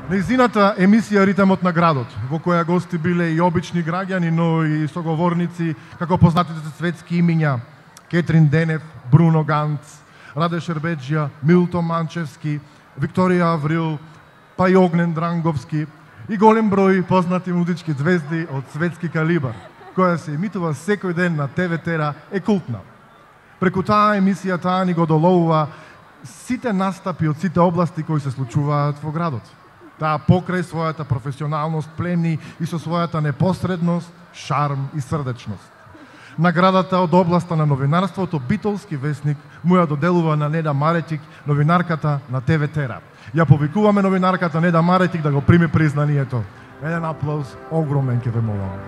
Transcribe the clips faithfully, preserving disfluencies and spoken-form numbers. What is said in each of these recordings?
Нејзината емисија Ритмот на градот, во која гости биле и обични граѓани, но и соговорници, како познатите светски имиња Кетрин Денев, Бруно Ганц, Раде Шербеджија, Милто Манчевски, Викторија Аврил, па и Огнен Дранговски и голем број познати музички звезди од светски калибар, која се емитува секој ден на Те Ве Тера, е култна. Преку таа емисија таа ни го доловува сите настапи од сите области кои се случуваат во градот. Таа покрај својата професионалност плени и со својата непосредност, шарм и срдечност. Наградата од областа на новинарството Битолски весник му ја доделува на Неда Маретик, новинарката на Те Ве Тера. Ја повикуваме новинарката Неда Маретик да го прими признанието. Еден аплауз, огромен ке ве молам.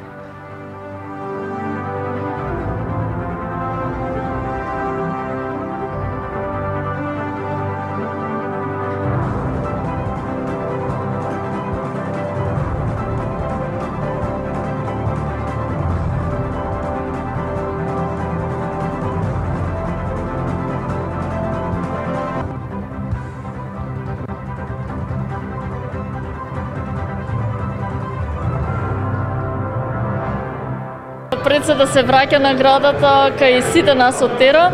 Пред се да се враќа наградата кај сите нас од Тера,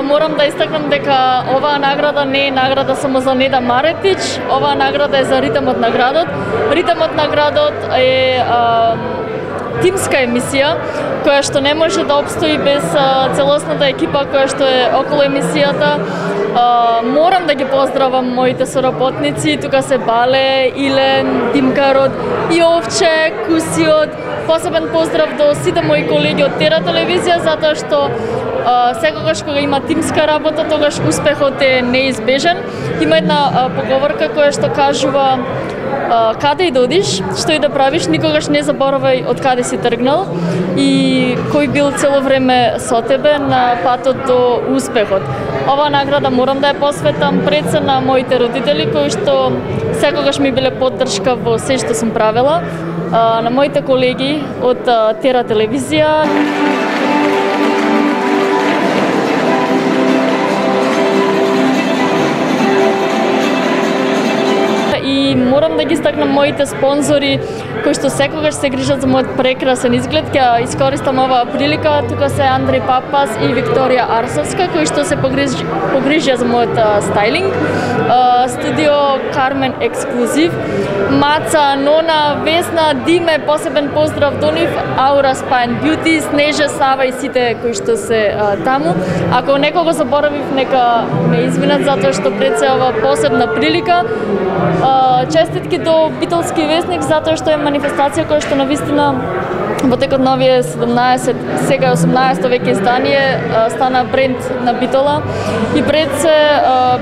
морам да истакнам дека оваа награда не е награда само за Неда Маретич, оваа награда е за Ритмот на градот. Ритмот на градот е а, тимска емисија, која што не може да обстои без а, целосната екипа која што е околу емисијата. А, морам да ги поздравам моите соработници, тука се Бале, Илен, Димкарот, Јовче, Кусиот. Посебен поздрав до сите мои колеги од Тера телевизија, затоа што а, секогаш кога има тимска работа, тогаш успехот е неизбежен. Има една а, поговорка која што кажува а, каде и да одиш, што и да правиш, никогаш не заборавај од каде си тргнал и кој бил цело време со тебе на патот до успехот. Оваа награда морам да ја посветам пред се на моите родители кои што секогаш ми биле поддршка во се што сум правела, на моите колеги од Тера телевизија. И морам да ги стакнам моите спонзори кои што секогаш се грижат за мојот прекрасен изглед. Ќе искористам оваа прилика. Тука се Андреј Папас и Викторија Арсовска кои што се погрижи, погрижија за мојот стайлинг. Студио Кармен Ексклузив, Маца, Нона, Весна, Диме, посебен поздрав до нив, Аура Спайн Бјути, Снежа, Сава и сите кои што се а, таму. Ако некого заборавив, нека ме извинат затоа што пред се ова посебна прилика. А, честитки до Битолски весник затоа што е манифестација која што навистина во текот на овие седумнаесет, сега осумнаесето веќе издание стана бренд на Битола и пред се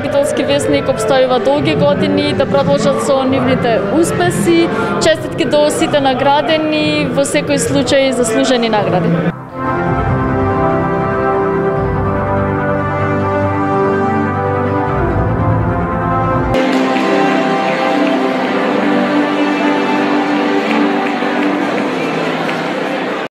Битолски весник обстојува долги години да продолжат со нивните успеси. Честитки до сите наградени, во секој случај заслужени награди.